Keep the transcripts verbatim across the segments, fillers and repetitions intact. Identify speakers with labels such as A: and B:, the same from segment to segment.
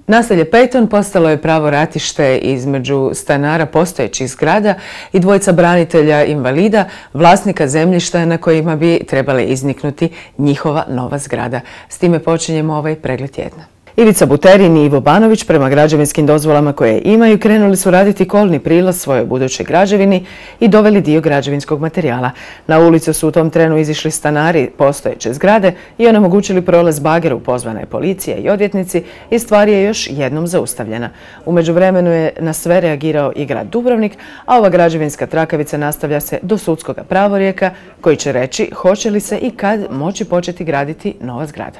A: Naselje Pejton postalo je pravo ratište između stanara postojećih zgrada i dvojica branitelja invalida, vlasnika zemljišta na kojima bi trebale izniknuti njihova nova zgrada. S time počinjemo ovaj pregled tjedna. Ivica Buterin i Ivo Banović prema građevinskim dozvolama koje imaju krenuli su raditi kolni prilaz svojoj budućoj građevini i doveli dio građevinskog materijala. Na ulicu su u tom trenu izišli stanari postojeće zgrade i onemogućili prolaz bageru. Pozvana je policija i odvjetnici i stvar je još jednom zaustavljena. U međuvremenu je na sve reagirao i grad Dubrovnik, a ova građevinska trakavica nastavlja se do sudskog pravorijeka koji će reći hoće li se i kad moći početi graditi nova zgrada.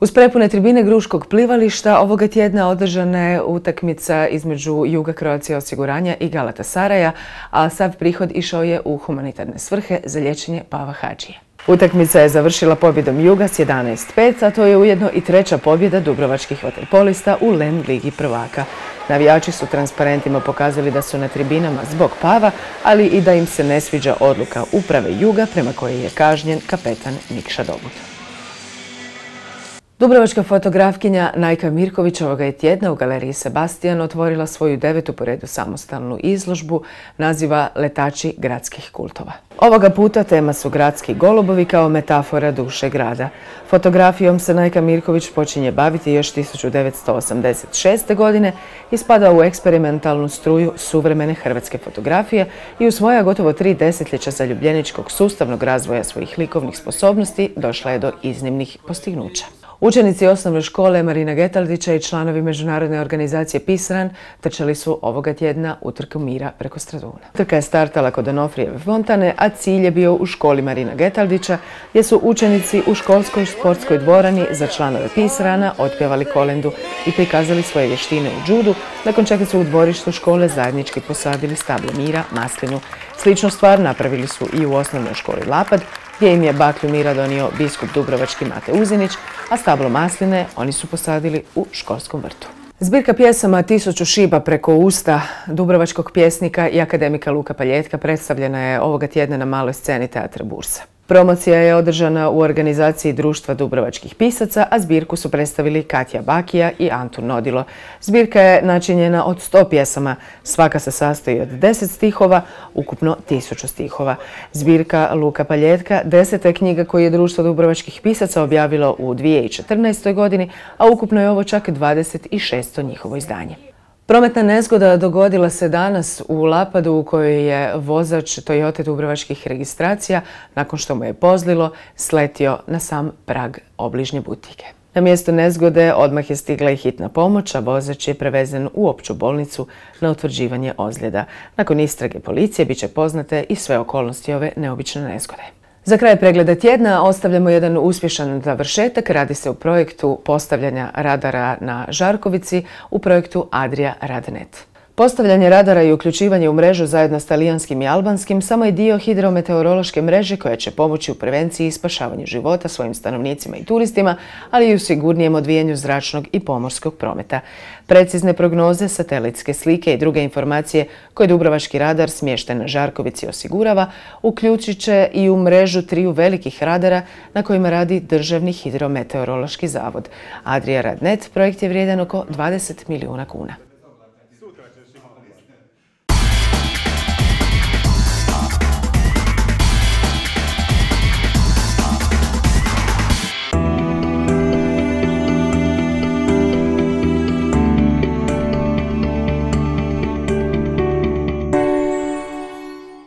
A: Uz prepune tribine Gruškog plivališta ovoga tjedna održana je utakmica između Juga Croatia osiguranja i Galatasaraja, a sav prihod išao je u humanitarne svrhe za liječenje Pava Hadžije. Utakmica je završila pobjedom Juga s jedanaest pet, a to je ujedno i treća pobjeda dubrovačkih vaterpolista u LEM ligi prvaka. Navijači su transparentima pokazali da su na tribinama zbog Pava, ali i da im se ne sviđa odluka uprave Juga prema kojoj je kažnjen kapetan Nikša Dobut. Dubrovačka fotografkinja Najka Mirković ovoga je tjedna u galeriji Sebastian otvorila svoju devetu po redu samostalnu izložbu naziva Letači gradskih kultova. Ovoga puta tema su gradski golubovi kao metafora duše grada. Fotografijom se Najka Mirković počinje baviti još tisuću devetsto osamdeset šeste. godine i spada u eksperimentalnu struju suvremene hrvatske fotografije i u svoja gotovo tri desetljeća zaljubljeničkog sustavnog razvoja svojih likovnih sposobnosti došla je do iznimnih postignuća. Učenici osnovne škole Marina Getaldića i članovi međunarodne organizacije Pisran trčali su ovoga tjedna utrku mira preko Straduna. Trka je startala kod Onofrijeve fontane, a cilj je bio u školi Marina Getaldića, gdje su učenici u školskoj sportskoj dvorani za članove Pisrana otpjevali kolendu i prikazali svoje vještine u džudu, nakon čega su u dvorištu škole zajednički posadili stablo mira, maslinu. Sličnu stvar napravili su i u osnovnoj školi Lapad, gdje im je baklju mira donio biskup dubrovački Mate Uzinić, a stablo masline oni su posadili u školskom vrtu. Zbirka pjesama Tisuću šiba preko usta dubrovačkog pjesnika i akademika Luka Paljetka predstavljena je ovoga tjedna na maloj sceni Teatra Bursa. Promocija je održana u organizaciji Društva dubrovačkih pisaca, a zbirku su predstavili Katja Bakija i Antun Nodilo. Zbirka je načinjena od sto pjesama, svaka se sastoji od deset stihova, ukupno tisuću stihova. Zbirka Luka Paljetka deseta je knjiga koju je Društvo dubrovačkih pisaca objavilo u dvije tisuće četrnaestoj. godini, a ukupno je ovo čak dvadeset šesto njihovo izdanje. Prometna nezgoda dogodila se danas u Lapadu u kojoj je vozač Toyota dubrovačkih registracija, nakon što mu je pozlilo, sletio na sam prag obližnje butike. Na mjesto nezgode odmah je stigla i hitna pomoć, a vozač je prevezen u opću bolnicu na utvrđivanje ozljeda. Nakon istrage policije bit će poznate i sve okolnosti ove neobične nezgode. Za kraj pregleda tjedna ostavljamo jedan uspješan završetak. Radi se o projektu postavljanja radara na Žarkovici u projektu Adria Radnet. Postavljanje radara i uključivanje u mrežu zajedno s talijanskim i albanskim samo je dio hidrometeorološke mreže koja će pomoći u prevenciji i spašavanju života svojim stanovnicima i turistima, ali i u sigurnijem odvijanju zračnog i pomorskog prometa. Precizne prognoze, satelitske slike i druge informacije koje dubrovački radar smješten na Žarkovici osigurava, uključit će i u mrežu triju velikih radara na kojima radi Državni hidrometeorološki zavod. Adria Radnet projekt je vrijedan oko dvadeset milijuna kuna.